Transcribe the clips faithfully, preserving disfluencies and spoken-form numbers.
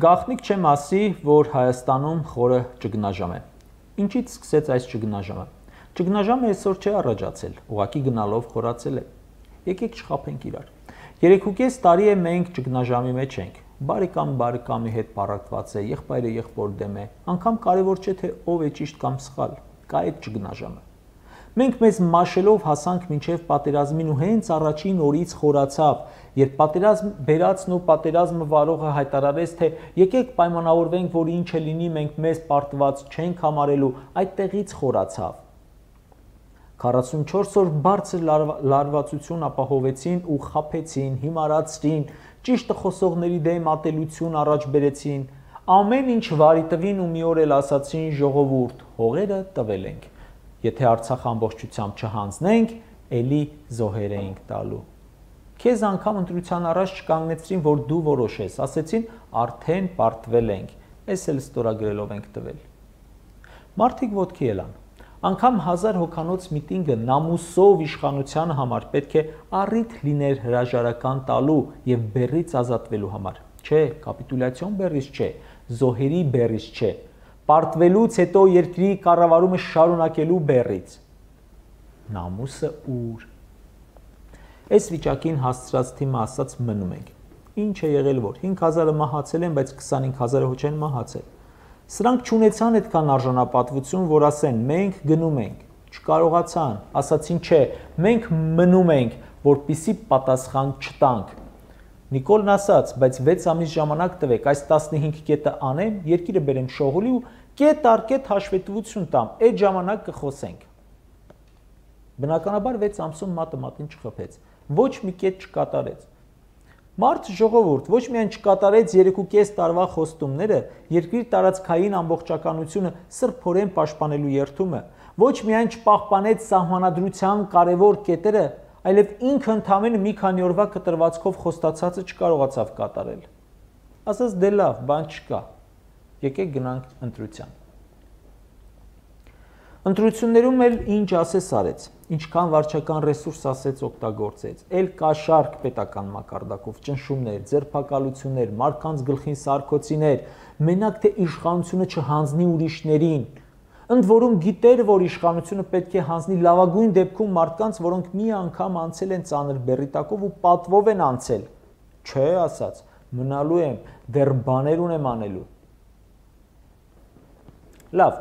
Գաղտնիք չեմ ասի, որ Հայաստանում խորը ճգնաժամ է։ Ինչից սկսեց այս ճգնաժամը։ Ճգնաժամը այսօր չէ առաջացել, ուղղակի գնալով խորացել է։ Եկեք չխաբենք իրար։ Երեքուկես տարի է մենք ճգնաժամի մեջ ենք։ Բարեկամ բարեկամի հետ պառակտված է, եղբայրը եղբոր դեմ է, անգամ կարևոր չէ թե ով է ճիշտ կամ սխալ, կա այդ ճգնաժամը։ Մենք մեզ մաշելով հասանք մինչև պատերազմին ու հենց առաջին օրից խորացավ, երբ պատերազմ բերածն ու պատերազմը վարողը հայտարարեց, թե եկեք պայմանավորվենք, որ ինչ է լինի, մենք մեզ պարտված չենք համարելու, այդտեղից խորացավ։ քառասունչորս օր բարձր լարվածություն ապահովեցին ու խաբեցին, հիմարացրին, ճիշտը խոսողների դեմ ատելություն առաջ բերեցին, ամեն ինչ վարի տվին ու մի օր էլ ասացին ժողովուրդ, հողերը տվել ենք։ Եթե Արցախ ամբողջությամբ չհանձնենք, էլի զոհեր էինք տալու։ Քեզ անգամ ընտրության առաջ չկանգնեցրին, որ դու որոշես, ասեցին արդեն պարտվել ենք, էս էլ ստորագրելով ենք տվել։ Մարդիկ ոտքի ելան։ Անգամ հազար հոգանոց միտինգը նամուսով իշխանության համար պետք է առիթ լիներ հրաժարական տալու եւ բեռից ազատվելու համար։ Չէ, կապիտուլյացիոն բեռից չէ, զոհերի բեռից չէ, պարտվելուց հետո երկրի կառավարումը շարունակելու բեռից։ Նամուսը ուր։ Այս վիճակին հասցրած թիմը ասաց մնում ենք։ Ինչ է եղել որ հինգ հազարը մահացել են, բայց քսանհինգ հազարը ոչ են մահացել։ Սրանք չունեցան այդքան արժանապատվություն, որ ասեն մենք գնում ենք, չկարողացան, ասացին չէ, մենք մնում ենք, որպիսի պատասխան չտանք։ Նիկոլն ասաց, բայց վեց ամիս ժամանակ տվեք, այս տասնհինգ կետը անեմ, երկիրը բերեմ շողոլի ու կետ առ կետ հաշվետվություն տամ, այդ ժամանակ կխոսենք։ Բնականաբար վեց ամսում մատը մատին չխփեց, ոչ մի կետ չկատարեց։ Մարդ ժողովուրդ ոչ միայն չկատարեց երեքուկես տարվա խոստումները, երկրի տարածքային ամբողջականությունը սրբորեն պաշտպանելու երթումը, ոչ միայն չպահպանեց սահմանադրության կարևոր կետերը, այլև ինքը ընդամենը մի քանի օրվա կտրվածքով խոստացածը չկարողացավ կատարել։ Ասաց դե լավ, բան չկա։ Եկեք գնանք ընտրության։ Ընտրություններում էլ ինչ ասես արեց, ինչքան վարչական ռեսուրս ասեց օգտագործեց, էլ կաշառք պետական մակարդակով, ճնշումներ, ձերբակալություններ, մարդկանց գլխին սարքոցիներ, մենակ թե իշխանությունը չհանձնի ուրիշներին, ընդ որում գիտեր, որ իշխանությունը պետք է հանձնի լավագույն դեպքում մարդկանց, որոնք մի անգամ անցել են ծանր բեռի տակով ու պատվով են անցել, չէ ասաց, մնալու եմ, դեռ բաներ ունեմ անելու։ Լավ,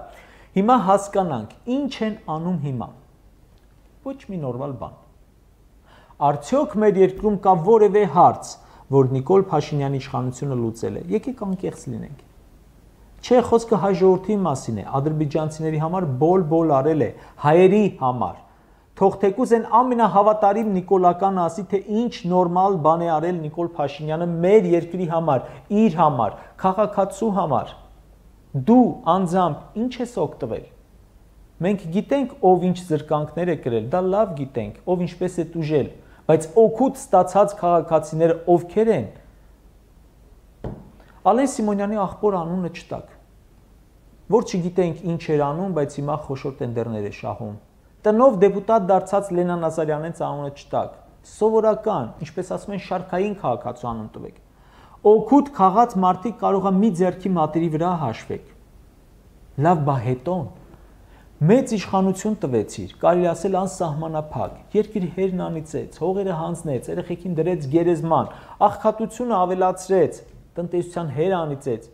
հիմա հասկանանք, ինչ են անում հիմա։ Ոչ մի նորմալ բան։ Արդյոք մեր երկրում կա որևէ հարց, որ Նիկոլ Փաշինյանի իշխանությունը լուծել է։ Եկեք անկեղծ լինենք։ Չէ, խոսքը հայ ժողովրդի մասին է, ադրբեջանցիների համար բոլ-բոլ արել է, հայերի համար։ Թող թեկուզ են ամենահավատարիմ նիկոլական ասի, թե ինչ նորմալ բան է արել Նիկոլ Փաշինյանը մեր երկրի համար, իր համար, քաղաքացու համար։ Դու անձամբ ինչ ես օգտվել։ Մենք գիտենք, ով ինչ զրկանքներ է կրել, դա լավ գիտենք, ով ինչպես է տուժել, բայց օգուտ ստացած քաղաքացիները ովքեր են։ Ալեն Սիմոնյանի աղբոր անունը չտակ, որ չգիտենք ինչ էր անում, բայց հիմա խոշոր տենդերներ է շահում։ Տնով դեպուտատ դարձած Լենան Ազարյանից անունը չտակ, սովորական, ինչպես ասում են, շարքային քաղաքացու անուն տվեք։ Օգուտ քաղաց մարդիկ կարող է մի ձեռքի մատերի վրա հաշվեք։ Լավ, բա հետոն մեծ իշխանություն տվեցիր, կարելի ասել անսահմանափակ, երկիր հերն անիծեց, հողերը հանձնեց, երեխեքին դրեց գերեզման, աղքատությունը ավելացրեց, տնտեսության հեր անիծեց։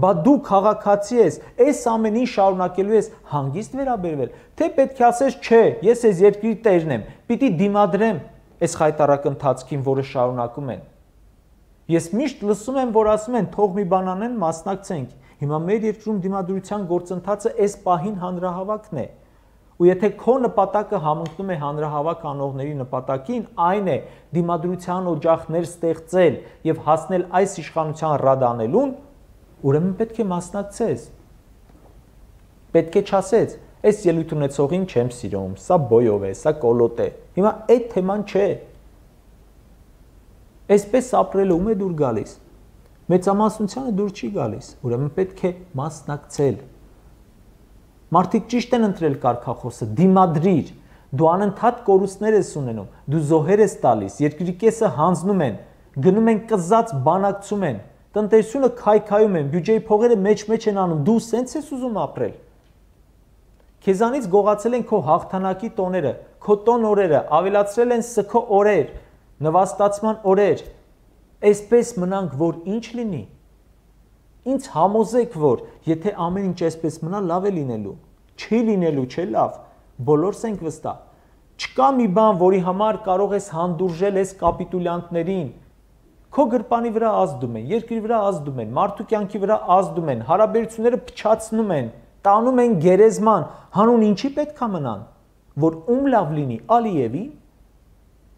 Բա դու քաղաքացի ես, այս ամեն ինչ շարունակելու ես հանգիստ վերաբերվել, թե պետք է ասես չէ, ես այս երկրի տերն եմ, պիտի դիմադրեմ այս խայտառակ ընթացքին, որը շարունակում են։ Ես միշտ լսում եմ, որ ասում են թող մի բան անեն, մասնակցենք։ Հիմա մեր երկրում դիմադրության գործընթացը այս պահին հանրահավաքն է։ Ու եթե քո նպատակը համընկնում է հանրահավաք անողների նպատակին, այն է դիմադրության օջախներ ստեղծել եւ հասնել այս իշխանության ռադանելուն, ուրեմն պետք է մասնակցես։ Պետք է չասես, այս ելույթ ունեցողին չեմ սիրում, սա բոյով է, սա կոլոտ է։ Հիմա այդ թեման չէ։ Այսպես ապրելը ում է դուր գալիս։ Մեծամասնությանը դուր չի գալիս, ուրեմն պետք է մասնակցել։ Մարդիկ ճիշտ են ընտրել կարգախոսը, դիմադրիր, դու անընդհատ կորուստներ ես ունենում, դու զոհեր ես տալիս, երկրի կեսը հանձնում են, գնում են կզած բանակցում են, տնտեսությունը քայքայում են, բյուջեի փողերը մեջ-մեջ են անում, դու սենց ես ուզում ապրել։ Քեզանից գողացել են քո հաղթանակի տոները, քո տոն օրերը, ավելացրել են սգո օրեր, նվաստացման օրեր։ Այսպես մնանք, որ ինչ լինի։ Ինձ համոզեք, որ եթե ամեն ինչ այսպես մնա, լավ է լինելու։ Չի լինելու, չէ լավ, բոլորս ենք վստահ։ Չկա մի բան, որի համար կարող ես հանդուրժել ես կապիտուլյանտներին։ Քո գրպանի վրա ազդում են, երկրի վրա ազդում են, մարդու կյանքի վրա ազդում են, հարաբերությունները փչացնում են, տանում են գերեզման, հանուն ինչի պետք է մնան, որ ում լավ լինի, Ալիևի։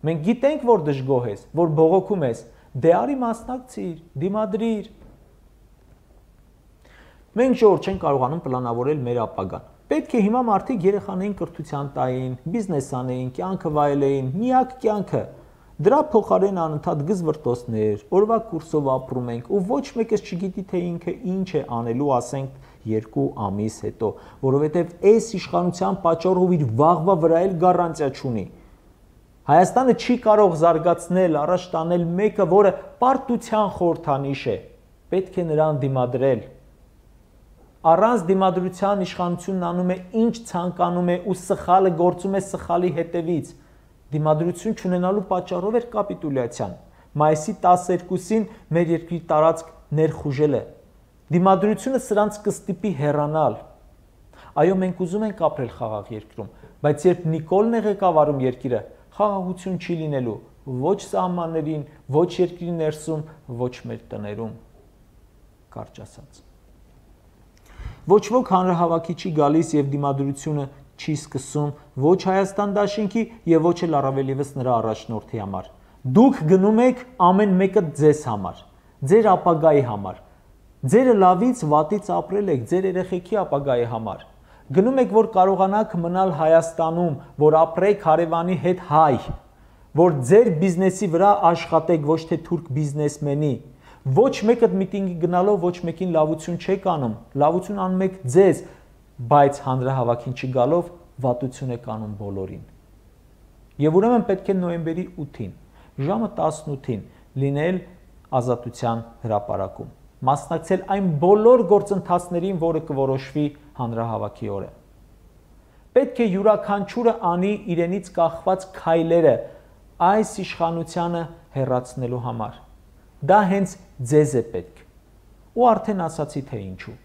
Մենք գիտենք, որ դժգոհ ես, որ բողոքում ես, դե արի մասնակցիր, դիմադրիր։ Մենք ժողովուրդ չենք կարողանում պլանավորել մեր ապագան։ Պետք է հիմա մարդիկ երեխաներին կրթության տային, բիզնես անեին, կյանքը վայելեին, միակ կյանքը։ Դրա փոխարեն անընդհատ գզվրտոցներ, օրվա կուրսով ապրում ենք ու ոչ մեկս չգիտի թե ինքը ինչ է անելու, ասենք երկու ամիս հետո, որովհետև այս իշխանության պատճառով իր վաղվա վրա էլ գարանտիա չունի։ Հայաստանը չի կարող զարգացնել, առաջ տանել մեկը, որը պարտության խորհրդանիշ է։ Պետք է նրան դիմադրել։ Առանց դիմադրության իշխանությունն անում է ինչ ցանկանում է ու սխալը գործում է սխալի հետևից։ Դիմադրություն չունենալու պատճառով էր կապիտուլյացիան։ Մայիսի տասներկուսին մեր երկրի տարածք ներխուժել է։ Դիմադրությունը սրանց կստիպի հեռանալ։ Այո, մենք ուզում ենք ապրել խաղաղ երկրում, բայց երբ Նիկոլն է ղեկավարում երկիրը, խաղաղություն չի լինելու ոչ սահմաններին, ոչ երկրի ներսում, ոչ մեր տներում։ Կարճ ասած։ Ոչ ոք հանրահավաքի չի գալիս եւ դիմադրությունը չի սկսում ոչ Հայաստան դաշինքի եւ ոչ էլ առավել եւս նրա առաջնորդի համար։ Դուք գնում եք ամեն մեկը ձեզ համար, ձեր ապագայի համար։ Ձերը լավից վատից ապրել եք ձեր երեխեքի ապագայի համար։ Գնում եք, որ կարողանաք մնալ Հայաստանում, որ ապրեք հարևանի հետ հայ, որ ձեր բիզնեսի վրա աշխատեք, ոչ թե թուրք բիզնեսմենի։ Ոչ մեկը միտինգի գնալով ոչ մեկին լավություն չեք անում, լավություն անում եք ձեզ, բայց հանրահավաքին չգալով վատություն եք անում բոլորին։ Եվ ուրեմն պետք է նոյեմբերի ութին, ժամը տասնութին լինել Ազատության հրապարակում, մասնակցել այն բոլոր գործընթացներին, որը կորոշվի հանրահավաքի օրը։ Պետք է յուրաքանչյուրը անի իրենից կախված քայլերը այս իշխանությանը հեռացնելու համար։ Դա հենց ձեզ է պետք։ Ու արդեն ասացի թե ինչու։